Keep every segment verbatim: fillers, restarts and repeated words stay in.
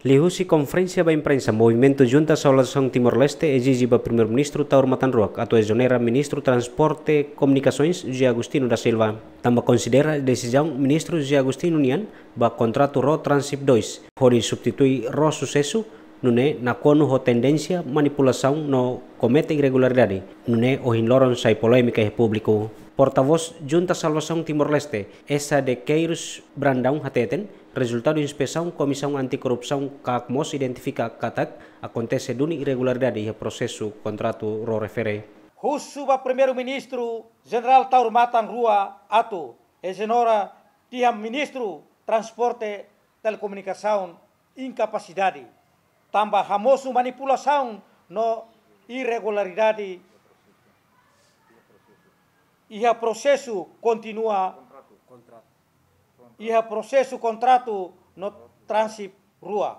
Liuhusi konferénsia ba imprensa, Movimentu Junta Salvasaun Timor-Leste ezije ba Primeiru-Ministru Taur Matan Ruak atu ezonera Ministru Transporte Komunikasoens José Agostinho da Silva, tanba konsidera desizaun Ministru José Agostinho nian ba kontratu Ró Transip dois, hodi substitui Ró Susesu, nune'e nakonu ho tendénsia manipulasaun no komete irregularidade, nune'e ohin loron sai polémika iha públiku. Portavós Junta Salvasaun Timor-Leste, Essa de Queiros Brandão hateten, rezultadu inspesaun Komisaun Anti-Korrupsaun KAK mós identifika katak akontese duni irregularidade iha prosesu kontratu Ró refere. Husu ba Primeiru-Ministru Jenerál Taur Matan Ruak atu ezonera tiha Ministru Transporte Telekomunikasaun inkapasidade, tanba hamosu manipulasaun no irregularidade iha prosesu kontinua, iha prosesu kontratu no Transip rua.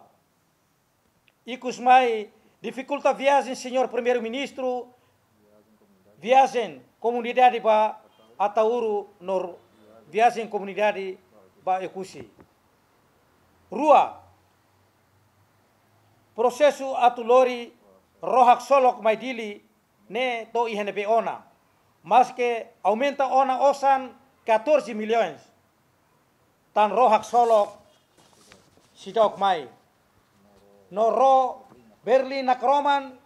Ikus mai difikulta viajen Señór Primeiru-Ministru, viajen komunidade ba Ataúro no viajen komunidade ba Oekusi. Rua, prosesu atu lori Ró Haksolok mai Dili ne'e to'o iha ne'ebé ona. Maske aumenta ona osan catorze milhões. Tan Ró Haksolok seidauk mai. No Ró Berlin Nakroman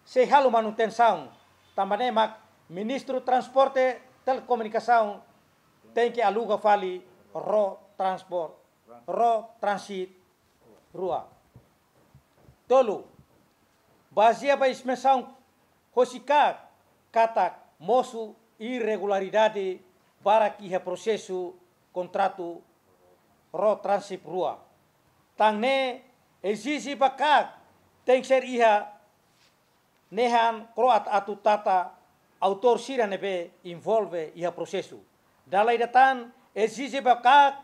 sei halo manutensaun. Tanba ne'e mak Ministru Transporte Telekomunikasaun tenke aluga fali Ró Transport, Ró Transit rua. Tolu, bazeia ba inspesaun hosi KAK katak mosu irregularidade barak iha prosesu kontratu Ró Transip rua. Tan ne'e ezije ba KAK tenke ser iha nehan kro'at atu tata autór sira ne'ebé envolve iha prosesu. Dala ida tan ezije ba KAK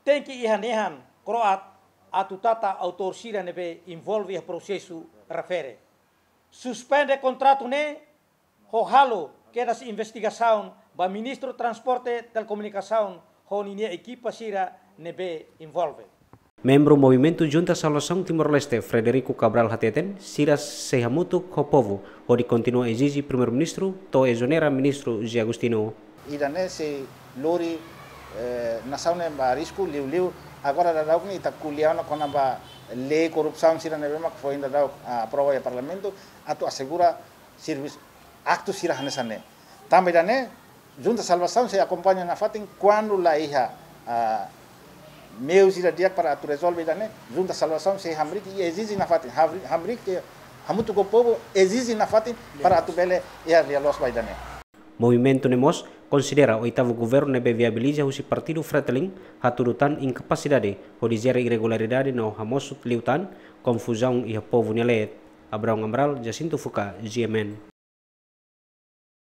tenke iha nehan kro'at atu tata autór sira ne'ebé envolve iha prosesu refere. Suspende kontratu ne'e ho halo kedas investigasaun ba Ministru Transporte Telekomunikasaun ho ninia ekipa sira ne'ebé envolve. Membru Movimentu Junta Salvasaun Timor-Leste, Frederico Cabral hateten, sira sei hamutuk ho povu hodi kontinua ezije Primeiru-Ministru to'o ezonera Ministru José Agostinho. Ida-ne'e sei lori, eh, nasaun ne'e ba risku liuliu. Agora daudaun ne'e ita ko'alia ona kona-ba lei korrupsaun sira ne'ebé mak foin daudaun, ah, aprova iha Parlamentu atu asegura servisu aktu sira hanesan ne'e. Tanba ida-ne'e, Junta Salvasaun sei akompaña nafatin kuandu la iha, ah, meius ida di'ak para atu rezolve ida-ne'e, Junta Salvasaun sei hamriik i ezije nafatin, hamriik, hamriik, eh, hamutuk ho povu ezije nafatin para atu bele iha lia-loos ba ida-ne'e. Movimentu ne'e mós konsidera oitavu governu ne'ebé viabiliza husi partidu Fretilin hatudu tan inkapasidade hodi jere irregularidade no hamosu liután konfuzaun iha povu nia leet. Abraão Amaral, Jacinto Fuca, G M N.